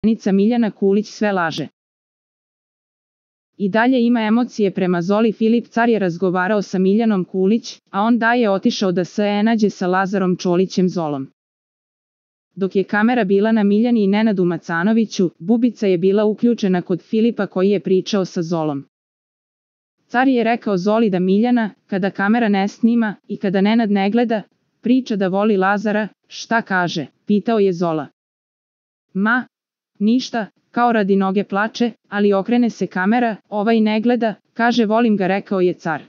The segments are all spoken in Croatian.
Poverenica Miljana Kulić sve laže. I dalje ima emocije prema Zoli. Filip Car je razgovarao sa Miljanom Kulić, a on da je otišao da se nađe sa Lazarom Čolićem Zolom. Dok je kamera bila na Miljani i Nenadu Macanoviću, Bubica je bila uključena kod Filipa koji je pričao sa Zolom. Car je rekao Zoli da Miljana, kada kamera ne snima i kada Nenad ne gleda, priča da voli Lazara. Šta kaže? Pitao je Zola. Ma, ništa, kao radi noge plače, ali okrene se kamera, ovaj ne gleda, kaže volim ga, rekao je Car.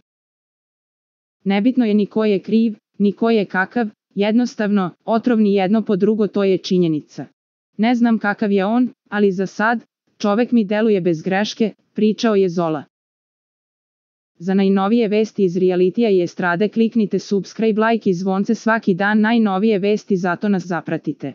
Nebitno je ni ko je kriv, ni ko je kakav, jednostavno, otrovni jedno po drugo, to je činjenica. Ne znam kakav je on, ali za sad, čovek mi deluje bez greške, pričao je Zola. Za najnovije vesti iz realitija i estrade kliknite subscribe, like i zvonce svaki dan, najnovije vesti, zato nas zapratite.